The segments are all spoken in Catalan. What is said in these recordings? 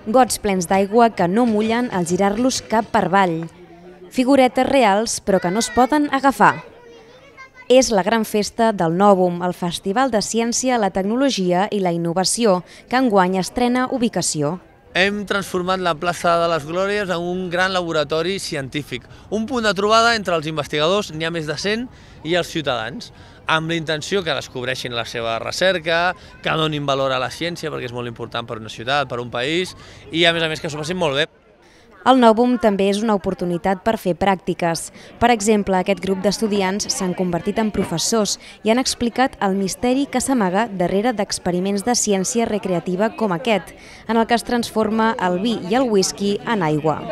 Gots plens d'aigua que no mullen al girar-los cap per avall. Figuretes reals, però que no es poden agafar. És la gran festa del Nòvum, el Festival de Ciència, la Tecnologia i la Innovació, que enguany estrena ubicació. Hem transformat la plaça de les Glòries en un gran laboratori científic, un punt de trobada entre els investigadors, n'hi ha més de 100, i els ciutadans, amb la intenció que descobreixin la seva recerca, que donin valor a la ciència, perquè és molt important per una ciutat, per un país, i a més que s'ho passin molt bé. El Nòvum també és una oportunitat per fer pràctiques. Per exemple, aquest grup d'estudiants s'han convertit en professors i han explicat el misteri que s'amaga darrere d'experiments de ciència recreativa com aquest, en el que es transforma el vi i el whisky en aigua.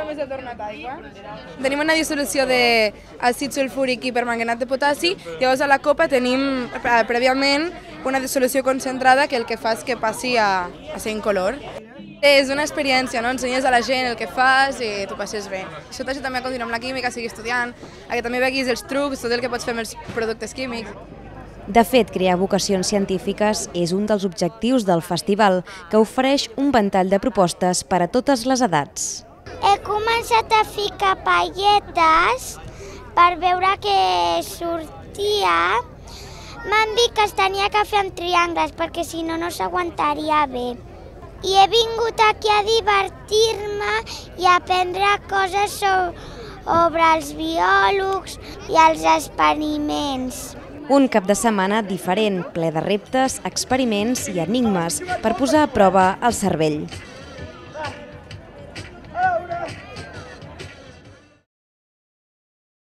Tenim una dissolució d'àcid sulfúric i permanganat de potassi, llavors a la copa tenim prèviament una dissolució concentrada que el que fa és que passi a ser incolor. És una experiència, no? Ensenyes a la gent el que fas i t'ho passes bé. Això t'ajuda també a continuar amb la química, sigui estudiant, a que també veguis els trucs, tot el que pots fer amb els productes químics. De fet, crear vocacions científiques és un dels objectius del festival, que ofereix un ventall de propostes per a totes les edats. He començat a ficar palletes per veure què sortia. M'han dit que es tenia que fer amb triangles perquè si no, no s'aguantaria bé. I he vingut aquí a divertir-me i a aprendre coses sobre els biòlegs i els experiments. Un cap de setmana diferent, ple de reptes, experiments i enigmes per posar a prova el cervell.